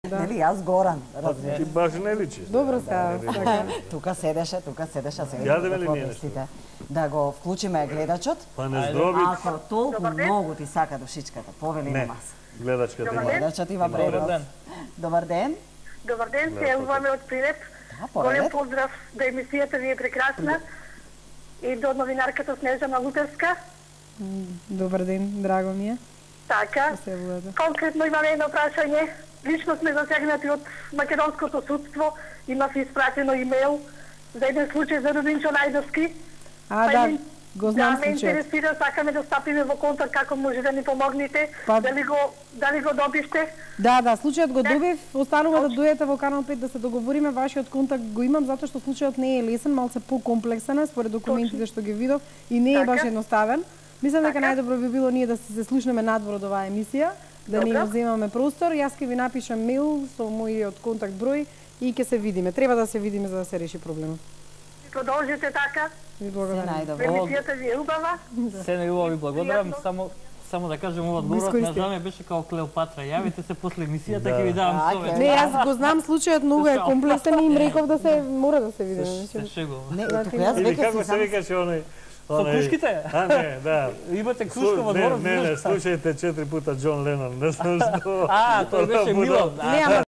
Нели, јас Горан, Ти разбираш. баш не личиш. Добро се. Тука седеше, сега Јадеме ли да ние помислите. Да го вклучиме гледачот. Па не здробит. Ако толку многу ти сака душичката, повели на Не. маса. Гледачката има. Гледачот има Добар предност. ден. Добар ден. Добар ден, се јавуваме од Прилеп. Да, Голем поред. поздрав да емисијата ви е прекрасна и до новинарката Снежана Лутерска. Добар ден, драго ми е. Така, Се водите. конкретно имаме едно прашање. Лично сме засегнати од македонското судство. Имав испратено имейл за еден случај за Рубинчо Најдовски. А, да, го знам ме случајот. интересира, сакаме да стапиме во контакт како може да ни помогнете. Па- Дали го добивте? Да, случајот го добив, останува да дојдете во Канал 5 да се договориме, вашиот контакт го имам затоа што случајот не е лесен, малце покомплексен е според документите што ги видов и не е баш Така. едноставен. Мислам дека Така. најдобро би било ние да се слушнеме надвор од оваа емисија, да не Добро. им земаме простор. Јас ќе ви напишам мејл со мојот контакт број и ќе се видиме. Треба да се видиме за да се реши проблемот. Продолжите така. Ви Се благодарам. најдобро. Емисијата ви е убава. Се неубаво ви благодарам, Пријатно. само да кажем ова одговорот на искористи. жаме беше као Клеопатра. Јавите се после емисијата, Да. ќе ви давам Така совет. е. Не, јас го знам случајот, многу е Слушао. комплексен и им реков да се мора да се видиме. Се шегувам. Не, тука јас Или веќе како си се сам... викаше оној? Со крушките? А, не, да. Имате крушка во дворот? Не, слушајте 4 пута Џон Ленон, не знам што. А, тој беше Милан. Не, ама